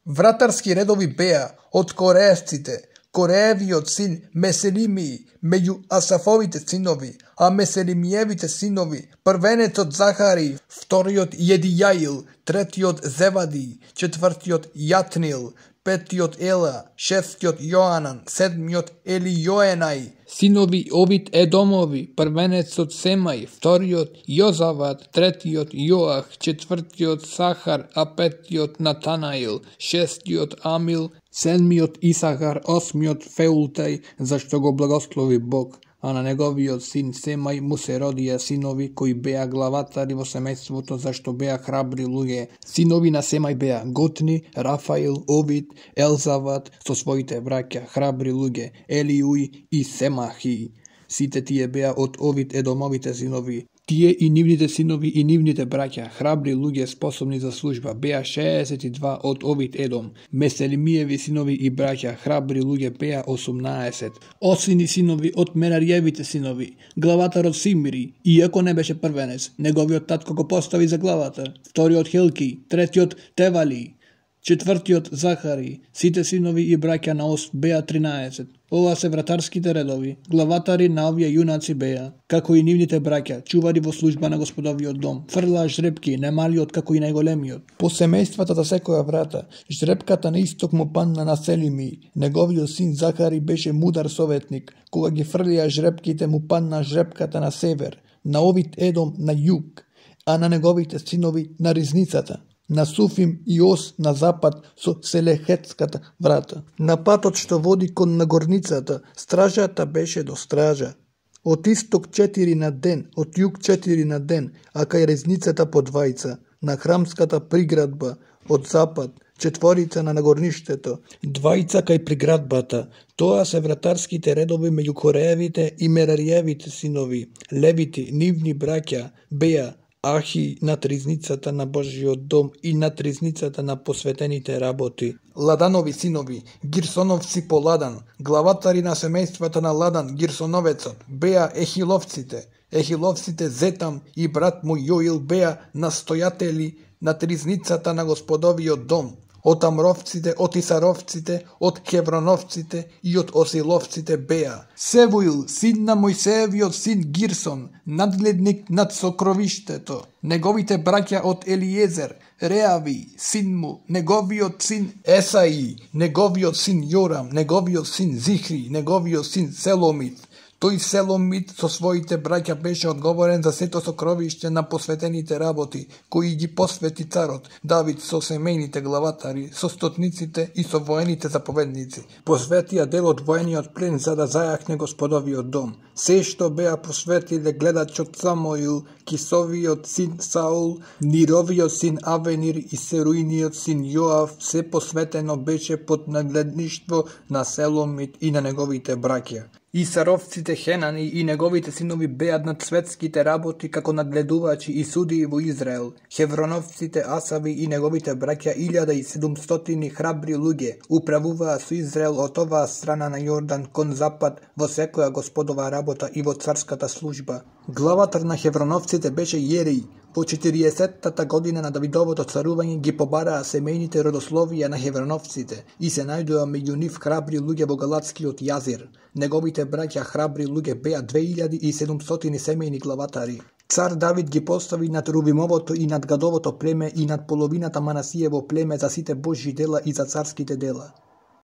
Вратарски редови беа од кореевците, Кореевиот син Меселимии, меѓу Асафовите синови, а Меселимиевите синови, првенецот Захари, вториот Једијаил, третиот Зевади, четвртиот Јатнил, петиот Ела, шестиот Јоанан, седмиот Елијоенај. Синови Овид Едомови, првенецот Семај, вториот Јозават, третиот Јоах, четвртиот Сахар, а петиот Натанаил, шестиот Амил, седмиот Исахар, осмиот Феултај, зашто го благослови Бог, а на неговиот син Семај му се родија синови кои беа главатари во семејството, зашто беа храбри луѓе. Синови на Семај беа Готни, Рафаил, Овид, Елзават со своите браќа, храбри луѓе, Елиуј и Семахи. Сите тие беа од Овид Едомовите синови. Тие и нивните синови и нивните браќа, храбри луѓе способни за служба, беа 62 од Овид Едом. Меселимиеви синови и браќа, храбри луѓе, беа 18. Осини синови од Мерариевите синови, главатарот Симри, иако не беше првенец, неговиот татко го постави за главатар, вториот Хелки, третиот Тевали, четвртиот Захари. Сите синови и браќа на Ос беа 13. Ова се вратарските редови. Главатари на овие јунаци беа, како и нивните браќа, чувари во служба на Господовиот дом. Фрлаа жребки, немалиот како и најголемиот. По семејствата за секоја врата, жребката на исток му падна на Селими. Неговиот син Захари беше мудар советник. Кога ги фрлија жребките, му падна жребката на север, на Овид Едом на југ, а на неговите синови на ризницата, на Суфим и Ос на запад со Селехетската врата. На патот што води кон нагорницата, стражата беше до стража. Од исток 4 на ден, од југ 4 на ден, а кај резницата по двајца, на храмската приградба, од запад, четворица на нагорништето, двајца кај приградбата. Тоа се вратарските редови меѓу Кореевите и Мерариевите синови. Левити, нивни браќа, беа Ахи над ризницата на Божиот дом и над ризницата на посветените работи. Ладанови синови, Гирсоновци по Ладан, главатари на семејствата на Ладан, Гирсоновецот, беа Ехиловците. Ехиловците Зетам и брат му Јоил беа настојатели над ризницата на Господовиот дом. Од Амровците, од Исаровците, од Хевроновците и од Осиловците беа Севуил, син на Мојсеевиот син Гирсон, надгледник над сокровиштето. Неговите браќа од Елиезер, Реави, син му, неговиот син Есаи, неговиот син Јорам, неговиот син Зихри, неговиот син Селомит. Тој Селомит со своите браќа беше одговорен за сето сокровиште на посветените работи, кои ги посвети царот Давид со семејните главатари, со стотниците и со воените заповедници. Посветија дел од воениот плен за да зајахне Господовиот дом. Се што беа посветиле гледачот Самоил, Кисовиот син Саул, Нировиот син Авенир и Серуиниот син Јоав, се посветено беше под нагледништво на Селомит и на неговите браќа. Исаровците Хенани и неговите синови беа над светските работи како надгледувачи и судии во Израел. Хевроновците Асави и неговите браќа 1700 храбри луѓе управуваа со Израел од оваа страна на Јордан кон запад во секоја Господова работа и во царската служба. Главатар на Хевроновците беше Јерей. Во 40-тата година на Давидовото царување ги побараа семејните родословија на Хевроновците и се најдоа меѓу нив храбри луѓе во Галатскиот јазер. Неговите браќа храбри луѓе беа 2700 семејни главатари. Цар Давид ги постави над Рувимовото и над Гадовото племе и над половината Манасиево племе за сите Божји дела и за царските дела.